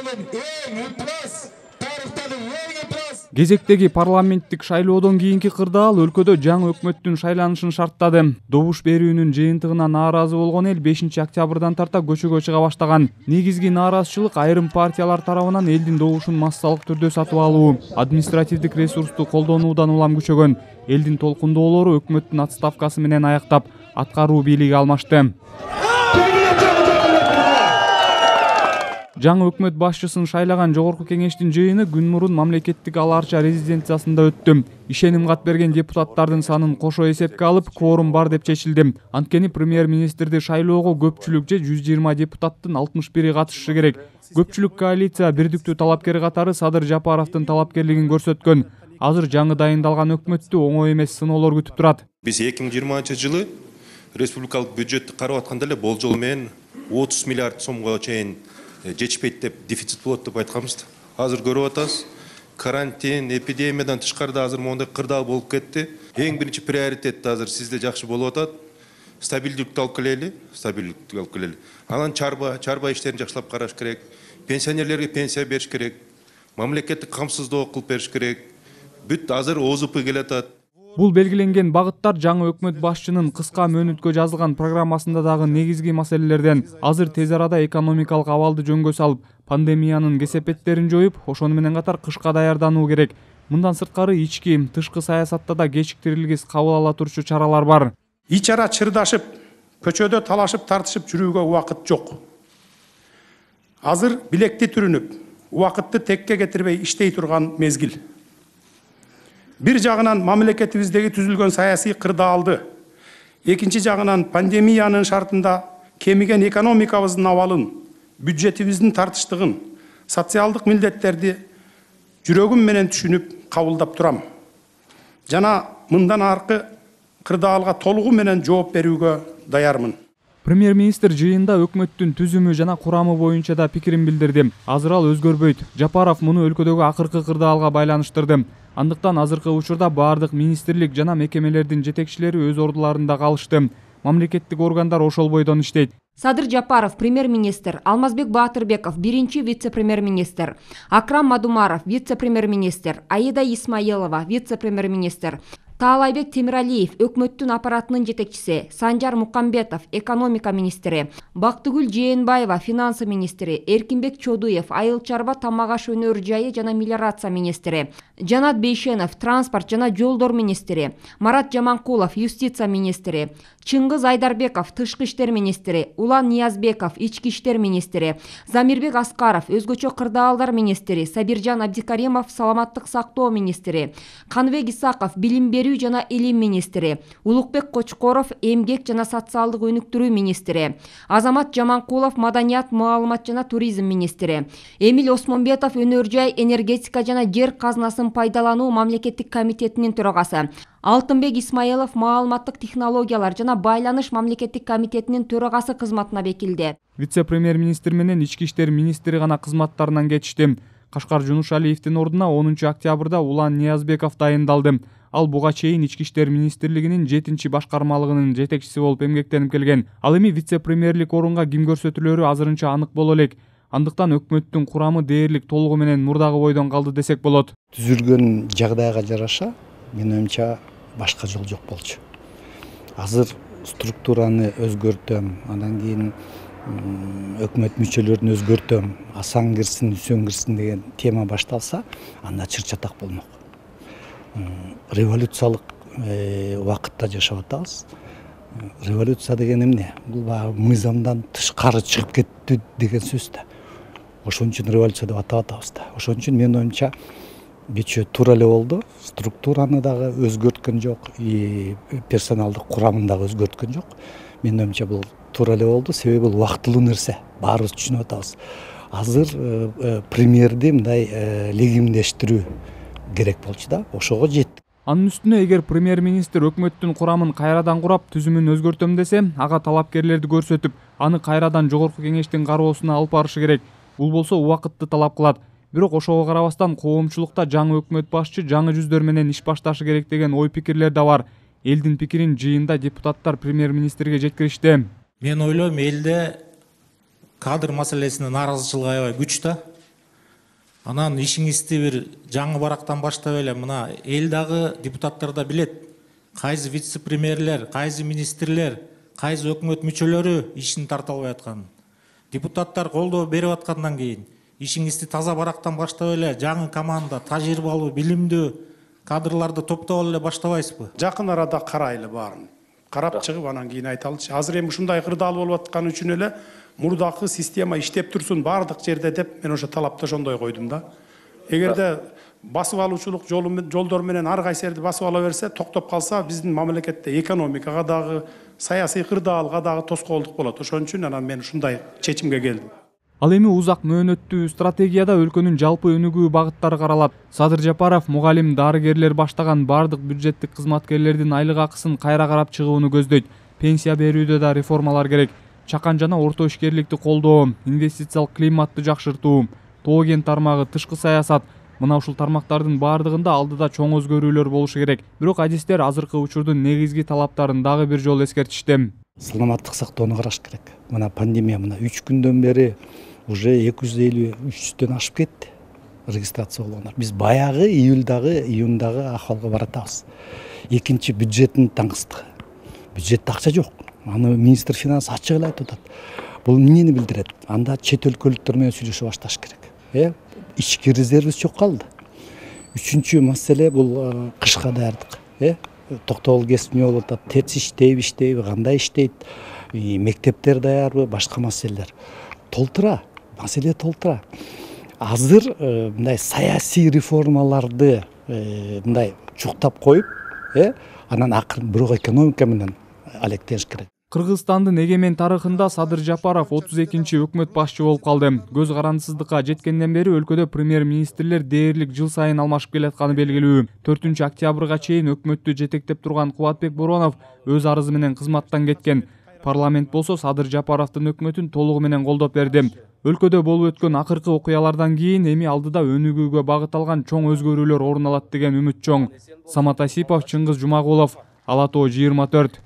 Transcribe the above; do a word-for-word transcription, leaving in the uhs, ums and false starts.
менен эң ыплас, тарыхтагы эң ыплас. Кезектеги парламенттик шайлоодон кийинки кырдаал өлкөдө жаңы өкмөттүн шайланышын шарттады. Добуш берүүнүн жыйынтыгына нааразы болгон эл бешинчи октябрдан тарта көчөгө чыга баштаган. Негизги нааразычылык айрым партиялар тарабынан элдин добушун массалык түрдө сатып алуу, административдик ресурсту колдонуудан улам күчөгөн. Элдин толкундоолору өкмөттүн отставкасы менен аяктап, аткаруу бийлиги алмашты. Жаңы өкмөт башчысын шайлаган жогорку кеңештин жыйыны күн мурун мамлекеттик ала арча резиденциясында өттү. Ишеним кат берген депутаттардын санын кошо эсепке алып, кворум бар деп чечилди. Анткени премьер-министрди шайлоого көпчүлүк же жүз жыйырма депутаттын алтымыш бири катышышы керек. Көпчүлүк коалиция бирдиктүү талапкер катары Садыр Жапаровдун талапкерлигин көрсөткөн. Азыр жаңы дайындалган өкмөттү оңой эмес сыноолор күтүп турат. Биз эки миң жыйырманчы жылы республикалык бюджетти карап атканда эле болжол менен отуз миллиард сомго чейин жетишпейт деп, дефицит болот деп айтканбыз. Азыр көрүп атабыз, карантин, эпидемиядан тышкарыда азыр мондай кырдаал болуп кетти. Эң биринчи приоритет азыр сизде жакшы болуп атат. Стабилдүүлүктү алып келели, стабилдүүлүктү алып келели. Анан чарба, чарба иштерин жакшылап караш керек. Пенсионерлерге пенсия бериш керек. Мамлекеттик камсыздоо кылып бериш керек. Бүт азыр О З П келатат. Бул белгиленген багыттар жаңы өкмөт башчынын кыска мөөнөткө жазылган программасында дагы негизги маселелерден. Азыр тез арада экономикалык абалды жөнгө салып, пандемиянын кесепеттерин жоюп, ошону менен катар кышка даярдануу керек. Мындан сырткары ички, тышкы саясатта да кечиктирилгис кабыл ала турчу чаралар бар. Ич ара чырдашып, көчөдө талашып тартышып жүрүүгө убакыт жок. Азыр билекти түрүнүп, убакытты текке кетирбей иштей турган мезгил. Бир жагынан мамлекетибиздеги түзүлгөн саясий кырдаалды, экинчи жагынан пандемиянын шартында кемиген экономикабыздын абалын, бюджетибиздин тартыштыгын, социалдык милдеттерди жүрөгүм менен түшүнүп кабылдап турам. Жана мындан аркы кырдаалга толугу менен жооп берүүгө даярмын. Премьер-министр жыйында өкмөттүн түзүмү жана курамы боюнча да пикирин билдирди. Азыр ал өзгөрбөйт. Жапаров муну өлкөдөгү акыркы кырдаалга байланыштырды. Андыктан азыркы учурда баардык министрлик жана мекемелердин жетекчилери өз ордуларында калышты. Мамлекеттик органдар ошол бойдон иштейт. Садыр Жапаров премьер-министр, Алмазбек Баатырбеков биринчи вице-премьер-министр, Акрам Мадумаров вице-премьер-министр, Аида Исмаилова вице-премьер-министр, Таалайбек Темиралиев өкмөттүн аппаратынын жетекчиси, Санжар Мукамбетов экономика министри, Бактыгүл Жээнбаева финансы министри, Эркинбек Чодуев айыл чарба тамак аш өнөр жайы жана мелиорация министри, Жанат Бейшенов транспорт жана жолдор министри, Марат Жаманкулов юстиция министри, Чыңгыз Айдарбеков тышкы иштер министри, Улан Ниязбеков ички иштер министри, Замирбек Аскаров өзгөчө кырдаалдар министри, Сабиржан Абдикаримов саламаттык сактоо министри, Каныбек Исаков билим берүү жана илим министри, Улукбек Кочкоров эмгек жана социалдык өнүктүрүү министри, Азамат Жаманкулов маданият, маалымат жана туризм министри, Эмил Осмонбетов өнөр жай, энергетика жана жер казынасын пайдалануу мамлекеттик комитетинин төрагасы, Алтынбек Исмаилов маалыматтык технологиялар жана байланыш мамлекеттик комитетинин төрагасы кызматына бекилди. Вице-премьер-министр менен ички иштер министри гана кызматтарынан кетишти. Кашкар Жунушалиевдин ордуна онунчу октябрда Улан Ниязбеков дайындалды. Ал буга чейин ички иштер министрлигинин жетинчи башкармалыгынын жетекчиси болуп эмгектенип келген. Ал эми вице-премьерлик орунга ким көрсөтүлөрү азырынча анык боло элек. Андыктан өкмөттүн курамы дээрлик толугу менен мурдагы бойдон калды десек болот. Түзүлгөн жагдайга жараша, менин оюмча башка жол жок болчу. Азыр структураны өзгөртөм, андан кийин өкмөт мүчөлөрүн өзгөртөм, Асан кирсин, Үсөн кирсин деген тема башталса, анда чыр-чатак болмок. Революциялык убакытта жашап атабыз. Революция деген эмне? Бул баягы мыйзамдан тышкары чыгып кетти деген сөз да. Ошон үчүн революция деп атап атабыз да. Ошон үчүн менин оюмча кечээ туура эле болду. Структураны дагы өзгөрткөн жок, и персоналдык курамын дагы өзгөрткөн жок. Менин оюмча бул туура эле болду, себеби бул убактылуу нерсе. Баарыбыз түшүнүп атабыз. Азыр премьерди мындай легимдештирүү керек болчу да, ошого жеттик. Анын үстүнө эгер премьер-министр өкмөттүн курамын кайрадан курап, түзүмүн өзгөртөм десе, ага талапкерлерди көрсөтүп, аны кайрадан жогорку кеңештин кароосуна алып барышы керек. Бул болсо убакытты талап кылат. Бирок ошого карабастан коомчулукта жаңы өкмөт башчы жаңы жүздөр менен иш башташы керек деген ой пикирлер да бар. Элдин пикирин жыйында депутаттар премьер-министрге жеткиришти. Мен ойлойм, элде кадр маселесине нааразычылык аябай күч да. Анан ишиңизди бир жаңы барактан баштап эле мына эл дагы депутаттар да билет. Кайсы вице-премьерлер, кайсы министрлер, кайсы өкмөт мүчөлөрү ишин тарта албай атканын. Депутаттар колдоо берип аткандан кийин ишиңизди таза барактан баштап эле жаңы команда, тажрыйбалуу, билимдүү кадрларды топтоп эле баштабайсызбы? Жакын арада карайлы баарын. Карап чыгып анан кийин айталычы. Азыр эми ушундай кырдаал болуп аткан үчүн эле мурдакы система иштеп турсун баардык жерде деп мен ошо талапты ошондой койдум да. Эгерде басып алуучулук жолдор менен ар кайсы жерди басып ала берсе, токтоп калса, биздин мамлекетте экономикага дагы, саясий кырдаалга дагы тоскоолдук болот. Ошон үчүн анан мен ушундай чечимге келдим. Ал эми узак мөөнөттүү стратегияда өлкөнүн жалпы өнүгүү багыттары каралат. Садыр Жапаров мугалим, дарыгерлер баштаган бардык бюджеттик кызматкерлердин айлык акысын кайра карап чыгууну көздөйт. Пенсия берүүдө да реформалар керек. Чакан жана орто ишкерликти колдоо, инвестициялык климатты жакшыртуу, тоо кен тармагы, тышкы саясат. Мына ушул тармактардын баардыгында алдыда чоң өзгөрүүлөр болушу керек. Бирок адистер азыркы учурдун негизги талаптарын дагы бир жолу эскертишти. Саламаттык сактоону караш керек. Мына пандемия мына үч күндөн бери уже эки жүз элүү үч жүздөн ашып кетти регистрация болгондор. Биз баягы июлдагы, июндагы акыбалга баратабыз. Экинчи бюджеттин таңсыздыгы. Бюджетте акча жок. Аны министр финанс ачык эле айтып атат. Бул эмнени билдирет? Анда чет өлкөлүктөр менен сүйлөшүп башташ керек. Э, ички резервибиз жок калды. Үчүнчү маселе бул кышка даярдык. Э, токтогул кесип эмне болуп атат? Терс иштейби, иштейби, кандай иштейт? Мектептер даярбы, башка маселелер. Толтура, маселе толтура. Азыр мындай саясий реформаларды мындай чуктап коюп, э, анан акырын бирок экономика менен алектениш керек. Кыргызстандын эгемен тарыхында Садыр Жапаров отуз экинчи өкмөт башчы болуп калды. Көз карандысыздыкка жеткенден бери өлкөдө премьер-министрлер дээрлик жыл сайын алмашып келатканы белгилүү. төртүнчү октябрга чейин өкмөттү жетектеп турган Кубатбек Боронов өз арызы менен кызматтан кеткен. Парламент болсо Садыр Жапаровдун өкмөтүн толугу менен колдоп берди. Өлкөдө болуп өткөн акыркы окуялардан кийин эми алдыда өнүгүүгө багыт алган чоң өзгөрүүлөр орун алат деген үмүт чоң. Самат Асипов, Чыңгыз Жумагулов, Ала Тоо жыйырма төрт.